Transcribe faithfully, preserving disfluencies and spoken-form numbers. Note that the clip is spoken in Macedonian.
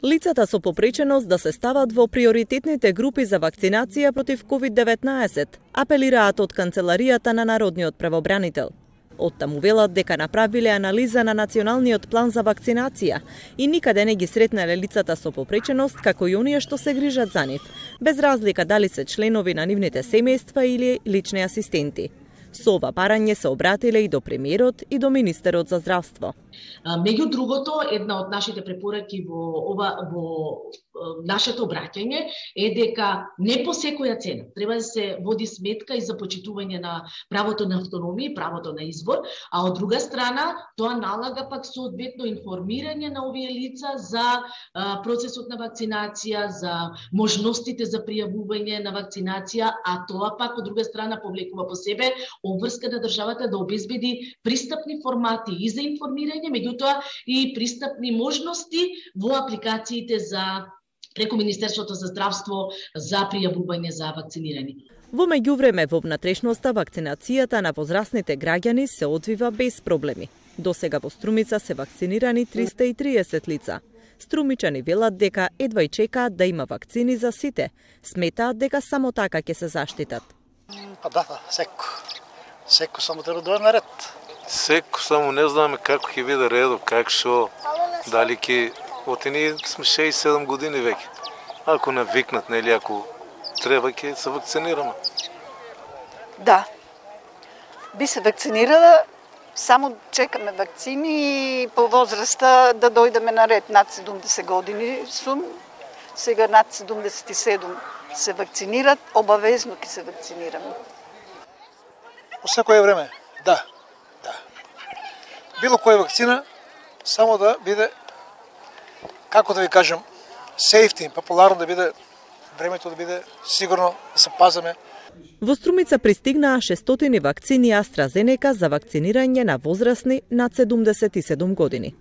Лицата со попреченост да се стават во приоритетните групи за вакцинација против ковид деветнаесет, апелираат од Канцеларијата на Народниот правобранител. Оттаму велат дека направиле анализа на Националниот план за вакцинација и никаде не ги сретнале лицата со попреченост како и оние што се грижат за нив, без разлика дали се членови на нивните семејства или лични асистенти. Со ова барање се обратиле и до премиерот и до министерот за здравство. Меѓу другото, една од нашите препораки во ова во нашето обраќање е дека не по секоја цена треба да се води сметка и за почитување на правото на автономија и правото на избор, а од друга страна тоа налага пак соодветно информирање на овие лица за процесот на вакцинација, за можностите за пријавување на вакцинација, а тоа пак од друга страна повлекува по себе обврска на државата да обезбеди пристапни формати и за информирање, меѓутоа и пристапни можности во апликациите за преку Министерството за здравство за пријавување за вакцинирани. Во меѓувреме во внатрешноста вакцинацијата на возрастните граѓани се одвива без проблеми. Досега во Струмица се вакцинирани триста и триесет лица. Струмичани велат дека едва и чекаат да има вакцини за сите. Сметаат дека само така ќе се заштитат. Па да, секо. Секо само треба да дојде на ред. Секо само не знаме како ќе биде редов, как шо, дали ќе... Оти ние сме шест и седум години веќе. Ако навикнат, нели, ако треба, ќе се вакцинираме. Да. Би се вакцинирала, само чекаме вакцини и по возраста да дојдеме на ред. Над седумдесет години сум, сега над седумдесет и седум се вакцинират, обавезно ќе се вакцинираме. По секое време, да. Да. Било која вакцина, само да биде, како да ви кажем, сейфти, популарно да биде, времето да биде сигурно, да се пазаме. Во Струмица пристигнаа шестстотини вакцини AstraZeneca за вакцинирање на возрастни над седумдесет и седум години.